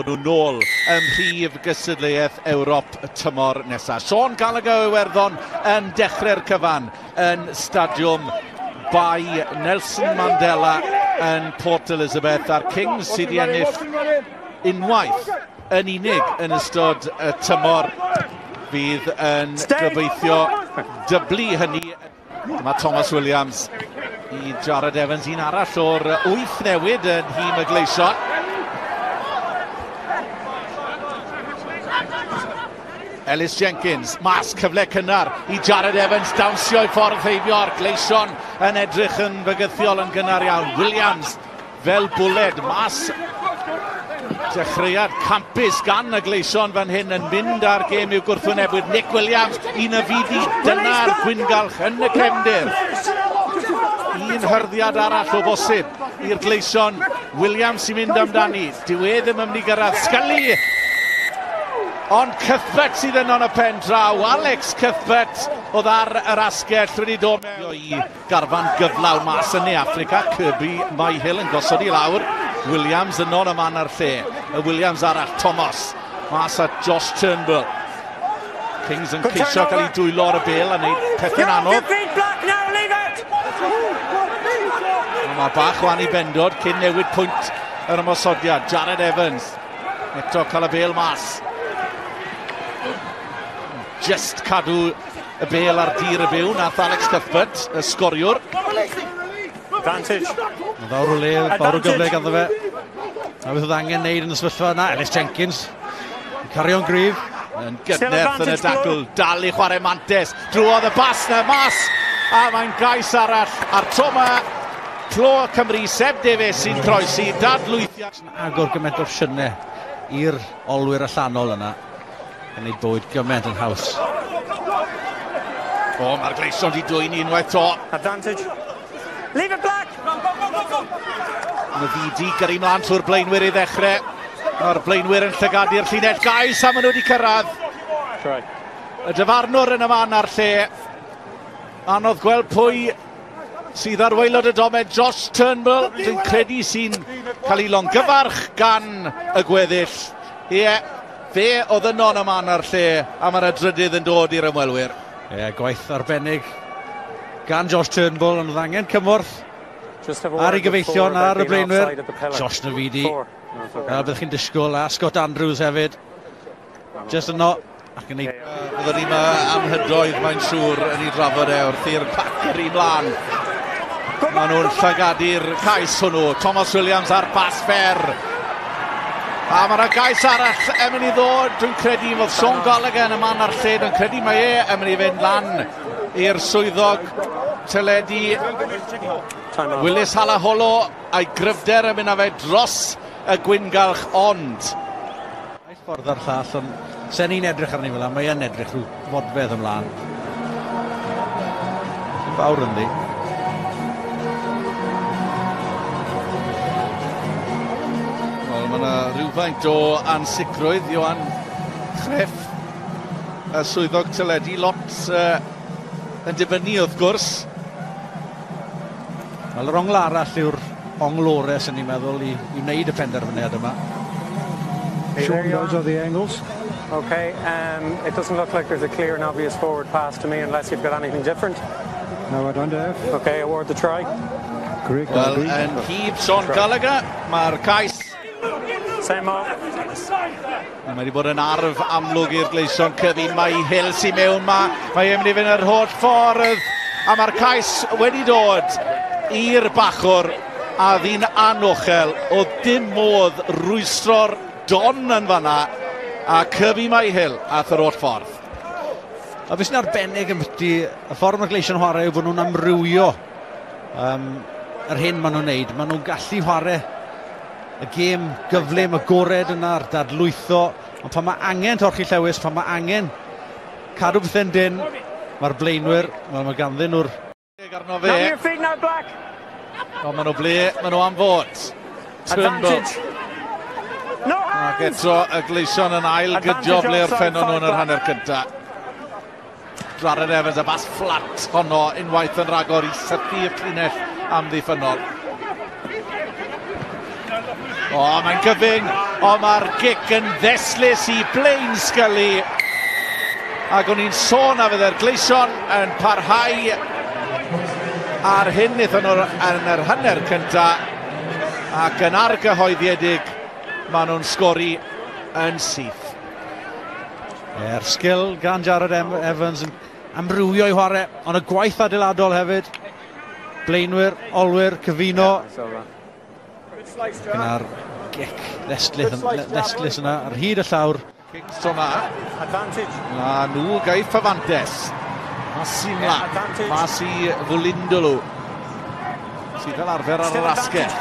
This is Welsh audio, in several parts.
nhw nôl ym mhrif gystadleuaeth Ewrop y tymor nesaf. Sean Gallagher o Iwerddon yn dechrau'r cyfan yn stadiwm Bae Nelson Mandela yn Port Elizabeth, a'r Kings sydd wedi ennill unwaith yn unig yn ystod y tymor fydd yn gobeithio dyblu hynny. Dyma Thomas Williams i Jared Evans, un arall o'r 8 newid yn nhîm y Gleision. Ellis Jenkins, mas cyfle cynnar i Jared Evans, dawnsio i ffordd heibio'r Gleision yn edrych yn fygythiol yn gynnar iawn. Williams fel bwled, mas dechreuad campus gan y Gleision fan hyn yn mynd ar gêm i'w gwrthwynebwyr. Nick Williams, un y fidi, dyna'r gwyngalch yn y cefndir. Un hyrddiad arall o bosib i'r Gleision. Williams sy'n mynd amdani, dyw e ddim yn mynd i gyrraedd. Scully! Ond Cuthbert sydd yno yn y pen draw. Alex Cuthbert oedd ar yr asgell wedi dod mewn i garfan gyflawn mas yn Ne Affrica. Kirby Myhill yn gosod i lawr. Williams yno yn y man a'r lle. Y Williams arall, Thomas, mas at Josh Turnbull. Kings yn ceisio cael ei dwylo ar y bel a wneud pethau'n anodd. Mae bach o anibendod cyn newid pwynt yr ymosodiad. Jared Evans eto cael y bel mas. Just cadw y bel ar dir y byw nath Alex Cuthbert, y sgoriwr. Advantage. Mae fawr o le, fawr o gyfle ganddo fe. A beth oedd angen wneud yn y sefyllfa yna, Ellis Jenkins yn cario'n gryf. Yn gydnerth yn y dacl, dal i chwarae mantes. Drwodd y bas na mas, a mae'n gais arall. A'r tro yma, clo Cymru, Seb Davies sy'n croesi, dadlwythiad. Agor gymaint o opsiynau i'r olwyr allanol yna, yn ei bywyd gymaint yn haws. O, mae'r Gleision wedi dwyn unwaith to. Advantage. Leave it black! Navidi gyrru mlaen trwy'r blaenwyr i ddechrau. Mae'r blaenwyr yn llygadu'r llinell gais a maen nhw wedi cyrraedd. Try. Y dyfarnwr yn y man a'r lle. Anodd gweld pwy sydd ar waelod y domen. Josh Turnbull, dwi'n credu sy'n cael ei longyfarch gan y gweddill. Ie, fe oedd yno yn y man a'r lle, a mae'r drydydd yn dod i'r ymwelwyr. Ie, gwaith arbennig gan Josh Turnbull, ond oedd angen cymorth ar ei gyfeillion ar y blaenwyr. Josh Navidi, a byddwch chi'n disgwyl, a Scott Andrews hefyd. Just yno. Ac yn ei... Byddwn ni'n amhydoedd, mae'n siŵr, yn ei drafod e wrth i'r pac yr un mlaen. Maen nhw'n llygadu'r cais hwnnw. Thomas Williams ar bas fer. A mae yna gais arall yn mynd i ddod. Dwi'n credu fod Sean Gallagher yn y man a'r lle. Dwi'n credu mae e yn mynd i fynd lan i'r swyddog teledu. Willis Halaholo a'i gryfder yn mynd â fe dros y gwyngalch, ond... Naill ffordd a'r llall, ond sen ni'n edrych arni fel 'na, mae yn edrych rhyw fodfedd ymlaen. Yn fawr ynddi. Wel, mae yna rhywfaint o ansicrwydd, Ioan Chreff, y swyddog teledu, lot yn dibynnu wrth gwrs. Wel, yr ongl arall yw'r ongl orau, sy'n ni'n meddwl, i wneud y penderfyniad yma. Sean, those are the angles. Okay, it doesn't look like there's a clear and obvious forward pass to me unless you've got anything different. No, I don't have. Okay, award the try. Correct. Wel, yn hyb Sean Gallagher, mae'r cais. Same off. Mae wedi bod yn arf amlwg i'r Gleision. Kirby Myhill sy'n mewn ma. Mae e'n mynd i fynd yr holl ffordd. A mae'r cais wedi dod i'r bachwr. A ddyn anochel. Oedd dim modd rwystro'r don yn fanna. A Kirby Myhill ath yr holl ffordd. A beth sy'n arbennig yn byti y ffordd mae'r Gleision chwarae yw bod nhw'n amrywio yr hyn maen nhw'n wneud. Maen nhw'n gallu chwarae y gêm gyflym, agored yna, a'r dadlwytho. Ond pan mae angen torchi llewis, pan mae angen cadw pethau'n dyn, mae'r blaenwyr, wel, mae ganddyn nhw'r... Arno fe. Now your feet now, Black. Ond maen nhw ble, maen nhw am fod. Turnbull. No Ac eto y Gleision yn ail gydio ble orffennon nhw yn yr hanner cyntaf. Jared Evans, y bas fflat honno unwaith yn rhagor i sythu y llinell amddiffynnol. O, mae'n gyfyng. Ond mae'r gic yn ddestlus i Blaine Scully. Ac o'n i'n sôn a fydde'r Gleision yn parhau ar hyn wnaethon nhw yn yr hanner cynta, ac yn argyhoeddiedig maen nhw'n sgori yn syth. E'r sgil gan Jared Evans yn amrywio i chwarae, ond y gwaith adeiladol hefyd. Blaenwyr, olwyr, cyfuno. Gyda'r gic ddestlus yna ar hyd y llawr. Kings tro 'ma. A nhw gaiff y fantes. Masimla, mas i Vulindolu, sydd fel arfer ar yr asgell.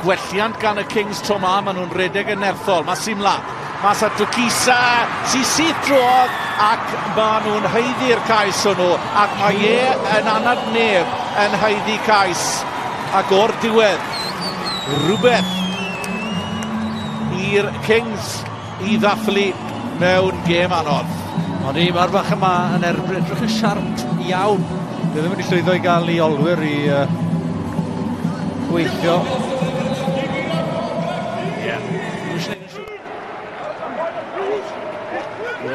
Gwelliant gan y Kings tro 'ma, maen nhw'n redeg yn nerthol. Masimla, mas at Dukisa, sy'n syth drwodd, ac maen nhw'n haeddu'r cais hwnnw, ac mae e yn anad neb yn haeddu cais. Ac o'r diwedd, rhywbeth i'r Kings i ddathlu mewn gêm anodd. Ond i, mae'r bach yma yn erbyn, edrych yn siarp iawn. Dwi ddim wedi llwyddo i gael ei olwyr i gweithio.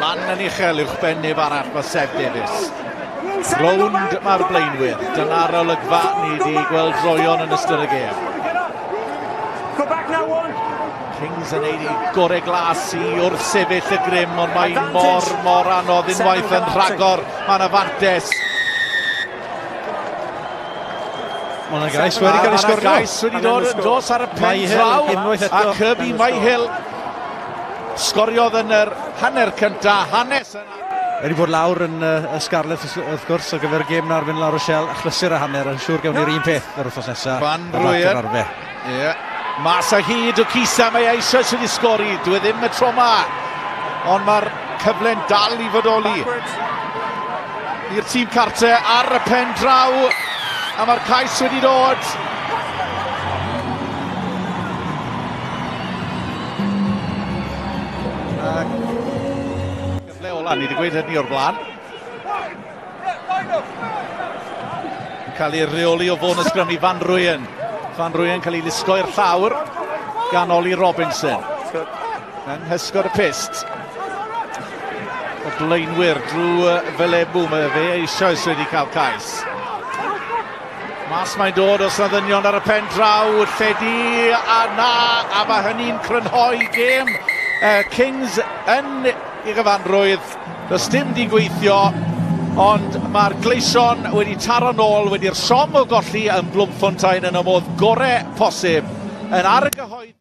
Lan yn uchel uwch ben neb arall mae Seb Davies. Rownd mae'r blaenwyr. Dyna'r olygfa ni wedi gweld droion yn ystod y gêm. Kings yn neud i gore glas i wrthsefyll y grym, ond mae mor, mor anodd unwaith yn rhagor. Mae'n afantes. Mae yna gais wedi cael ei sgorio. Gais wedi dod yn dos ar y pen draw. A Kirby Myhill sgoriodd yn yr hanner cynta, hanes yna. Wedi bod lawr yn y Scarlets wrth gwrs ar gyfer y gêm na ar fynd La Rochelle, achlysur a hanner, yn siŵr gawn ni'r un peth yr wythnos nesaf. Van Rooyen. Ie. Mas a hyd o Cisa, mae eisoes wedi sgori, dwi ddim y tro ma. Ond mae'r cyfle'n dal i fodoli. I'r tîm cartre ar y pen draw, a mae'r cais wedi dod. Cyfle ola, ni wedi gweud hynny o'r blaen. Cael ei reoli o fôn y sgrym i Van Rooyen. Van Rooyen cael ei lusgo i'r llawr gan Ollie Robinson. Yng nghysgod y pyst. Y blaenwyr drwy Felemu, mae fe eisoes wedi cael cais. Mas mae'n dod os na ddynion ar y pen draw, lledu a na, a mae hynny'n crynhoi gêm. Kings yn ei gyfanrwydd, does dim di gweithio, ond mae'r Gleision wedi taro nôl, wedi'r siom o golli yn Bloemfontein yn y modd gore posib, yn argyhoedd.